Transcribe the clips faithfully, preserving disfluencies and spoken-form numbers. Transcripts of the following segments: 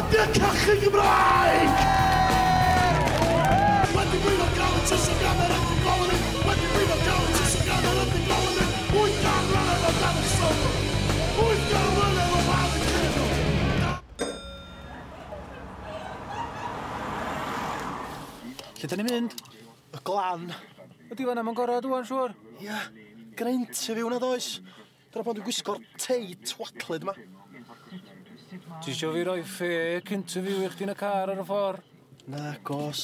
Bandiau cachu Gymraeg! Wedi brifo gael y tysio gan yr ydyn golyn, wedi brifo gael y tysio gan yr ydyn golyn, wyth gan mlynedd o dan y sylw, wyth gan mlynedd o dan y cyrnw. Lle da ni'n mynd? Y glan. Ydy fan'na ma'n gorau dwan, siŵr? Ia, gyda interview na does. Dyna pan dwi'n gwisgo'r tei twatlyd yma. Ti isio fi roi fake interview i chdi yn y car ar y ffordd? Na, gos.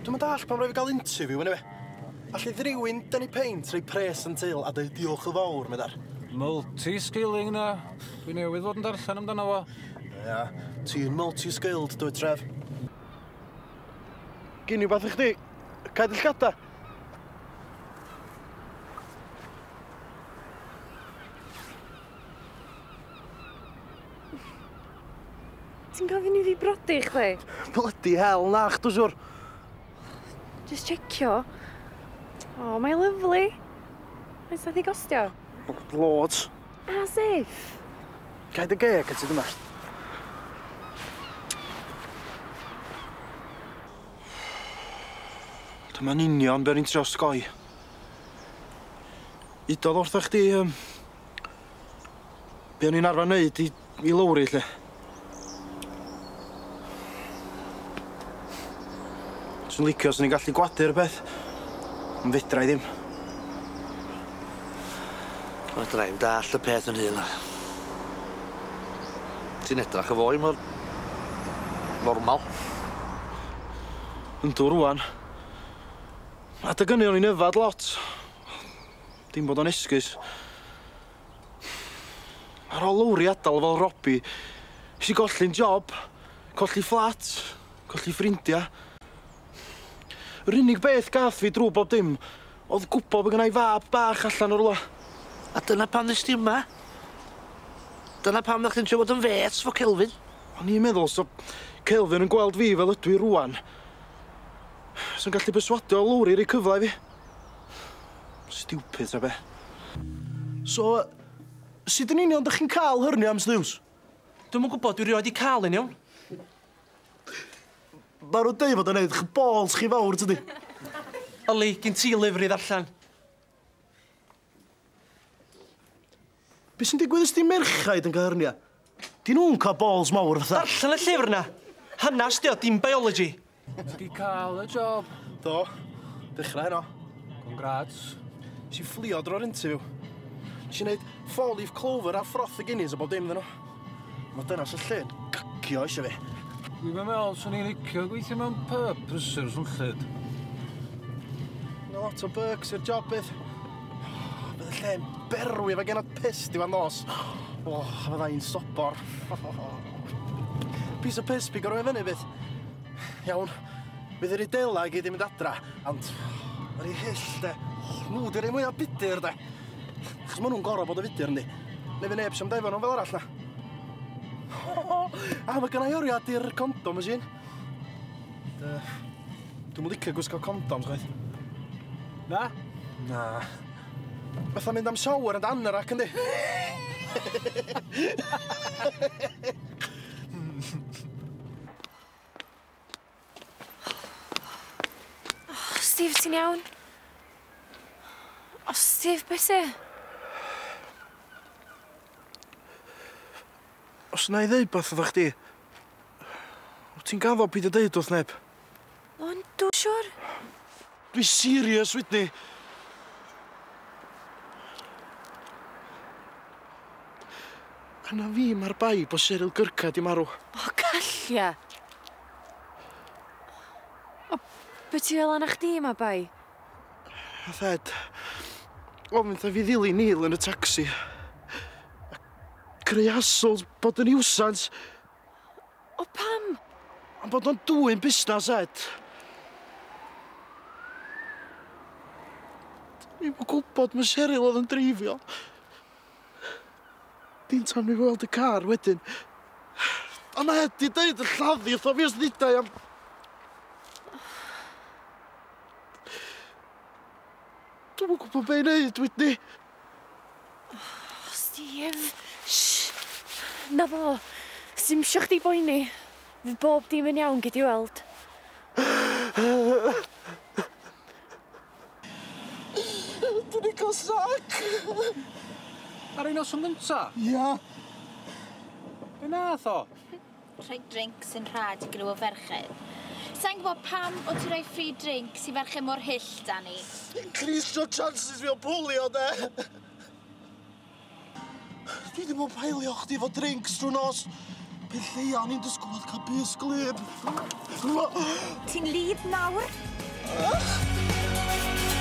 Dwi'm yn dallt pam rhaid fi gael interview, yndyfe? Alli rywun dynnu peint, rhoi pres yn til a dweud diolch yn fawr, meddar. Multi-skilling na. Dwi newydd fod yn darllen amdano fo. Ia, ti'n multi-skilled, dwi Tref. Gyn i wbath i chdi? Cau dy llgada? Ti'n gofyn i fi brodi chdi? Bloody hell, na, chdw siwr. Just checio. Oh, mae'n lyfli. Faint nath i gostio? Loads. As if. Cau dy geg a ti dyma. Dyma'n union be o'n i'n trio osgoi. Udodd wrtha chdi, um, be o'n i'n arfer wneud i, i Lowri, lle. Swn licio swn i'n gallu gwadu'r peth, ond fedra i ddim. Fedra i'm dallt y peth yn hun. Ti'n edrach y foi mor normal. Yndw rŵan. Adeg hynny o'n i'n yfad lot. Dim bod o'n esgus. Ar ôl Lowri adael fel Robbie, nes i golli'n job, colli fflat, colli ffrindiau. Yr unig beth gath fi drwy bob dim oedd gwybod bod gynna i fab bach allan o'r rwla. A dyna pam nes di yma? Dyna pam ddech chi'n trio bod yn fêts fo Kelvin? O'n i'n meddwl, so Kelvin yn gweld fi fel ydw i rŵan, so'n gallu perswadio Lowri i roi cyfle i fi. Stupid, ta be. So, sut yn union dych chi'n cael hernia am sliws? Dwi'm yn gwybod, dwi rioed 'di cael un iawn. Ma' nhw'n deud fod o'n neud eich balls chi fawr, tydi? Oli, gyn ti lyfr i ddarllen. Be sy'n digwydd os di merchaid yn cael hernia? Di nhw'n cael balls mawr fatha? Darllen y llyfr na! Hanas di o, dim biology. Ti 'di cael y job? Do. Dechrau heno. Congrats. Nes i fflio dro'r interview. Nes i wneud four leaf clover a froth y Guinness a bob dim iddyn nhw. Mae dynas y lle'n gacio eisiau fi. Dwi'm yn meddwl swn i'n licio gweithio mewn pub prysur swnllyd. Yna lot o perks i'r job bydd. Bydd y lle'n berwi efo genod piss diwedd nos. O, fydda i'n sobor. Piece of piss pigo rhywun fyny bydd. Iawn, fydd yr idela i gyd i mynd adra, ond yr i hyll de. Nhw di'r un mwyaf budur de. Achos maen nhw'n gorfod bod yn fudur yndi. Neu fy neb sy'n defo nhw fel arall na. A mae gynna i oriad i'r condom machine. Dwi'm yn licio gwisgo condoms chwaith. Na? Na. Fatha mynd am shower and anorak yndi? Oh, Steve, ti'n iawn? O, Steve, beth sy? Os na i ddeud beth oeddach chdi, wyt ti'n gaddo peidio deud wrth neb? Ond dwi'n siŵr. Dwi serious, Whitney. Yna fi mae'r bai bod Cheryl Gyrca di marw. O, callia. O, be ti fel yna chdi ma bai? Nath Ed, ofyn wrtha fi ddilyn Neil yn y taxi. Creu hassles, bod yn nuisance. O, pam? Am bod o'n dwyn busnes, Ed. Dwi'm yn gwybod mae Cheryl oedd yn dreifio. Dim tan mi weld y car wedyn. Ond Ed di deud y lladdu wrtho fi os ddudai am... Dwi'm yn gwybod be i wneud, Whitney. Steve, shh. Na fo, sim isio chdi boeni. Fydd bob dim yn iawn, gei di weld. Dwi 'di cael sac! Ar ei noson gynta? Ia. Be nath o? Rhoi drinks yn rhad i griw o ferched. Sa'n gwybod pam o ti rhoi free drinks i ferched mor hyll, Dani? Increase your chances fi o bwlio, de! Dwi ddim yn paelio chdi efo drinks drwy nos. Peth lleia o'n i'n disgwyl oedd cael bys glyb. Ti'n lib nawr? Ah!